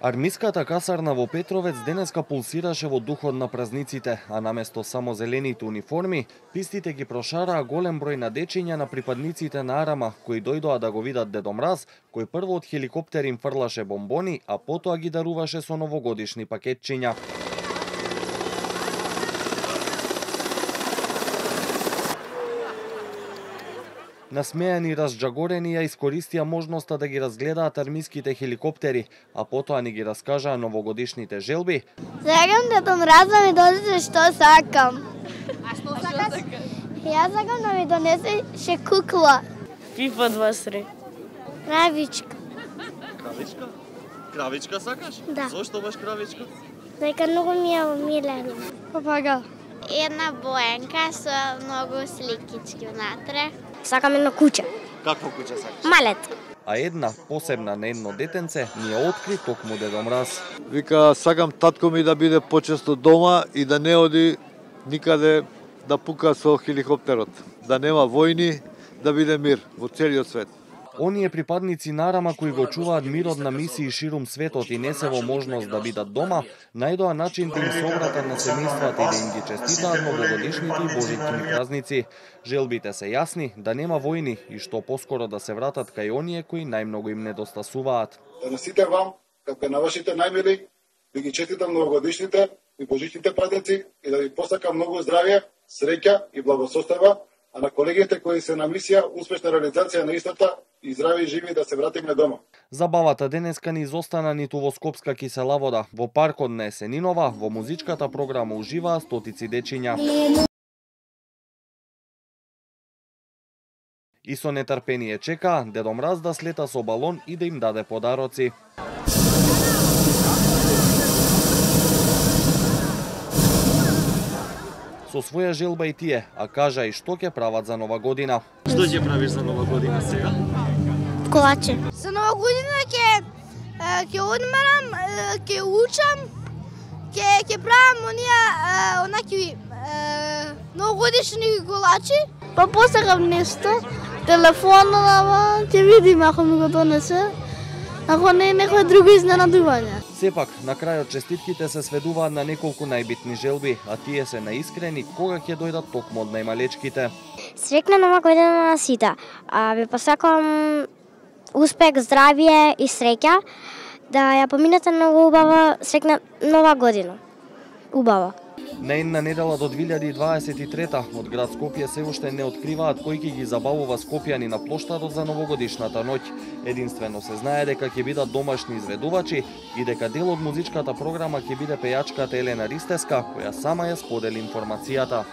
Армиската касарна во Петровец денеска пулсираше во духот на празниците, а наместо само зелените униформи, пистите ги прошараа голем број на дечиња на припадниците на Арама, кои дојдоа да го видат Дедо Мраз, кој прво од хеликоптер им фрлаше бомбони, а потоа ги даруваше со новогодишни пакетчиња. Насмејани и разџагорени ја искористија можноста да ги разгледаат армиските хеликоптери, а потоа ни ги раскажаа новогодишните желби. Сакам Дедо Мраз да ми донесе што сакам. А што сакаш? Јас сакам да ми донесе кукла. FIFA 23. Кравичка. Кравичка? Кравичка сакаш? Да. Зошто баш кравичка? Дека многу ми е милена. Папагал. Една боенка со многу сликички внатре. Сакам едно куќе. Какво куќе сакаш? Малет. А една посебна на едно детенце ни ја откри токму Дедо Мраз. Вика, сакам татко ми да биде почесто дома и да не оди никаде да пука со хеликоптерот. Да нема војни, да биде мир во целиот свет. Оние припадници на Арама кои го чуваат мирот на мисии ширум светот и не се во можност да бидат дома, најдоа начин да им се обратат на семејствата и да им ги честитаат новогодишните и божитни празници. Желбите се јасни, да нема војни и што поскоро да се вратат кај оние кои најмногу им недостасуваат. Да на сите вам, како на вашите најмили, ви ги честитам новогодишните и божитните празници и да ви посакам многу здравје, среќа и благосостојба, а на колегите кои се на мисија, успешна реализација на истата и здрави и живи да се вратиме дома. Забавата денеска не изостана ниту во Скопска кисела вода. Во паркот на Есенинова, во музичката програма уживаа стотици дечиња. И со нетрпение чекаа Дедо Мраз да слета со балон и да им даде подароци. Со своја желба и тие, а кажа и што ќе прават за Нова година. Што ќе правиш за Нова година сега? Колаче. За Нова година ќе одмарам, ќе учам, ќе правам онаки новогодишни колачи. Па посакам нешто. Телефонова, ќе видим ако ми го донесе. Ако не, некој друго изненадување. Сепак, на крајот честитките се сведуваат на неколку најбитни желби, а тие се наискрени кога ќе дојдат токму од најмалечките. Срекна Нова година на сите. Ви посакам успех, здравје и среќа. Да ја поминете многу убава срекна Нова година. Убава. На една недела до 2023 од град Скопје се уште не откриваат кој ќе ги забавува скопјани на плоштадот за новогодишната ноќ. Единствено се знае дека ќе бидат домашни изведувачи и дека дел од музичката програма ќе биде пејачката Елена Ристеска, која сама ја сподели информацијата.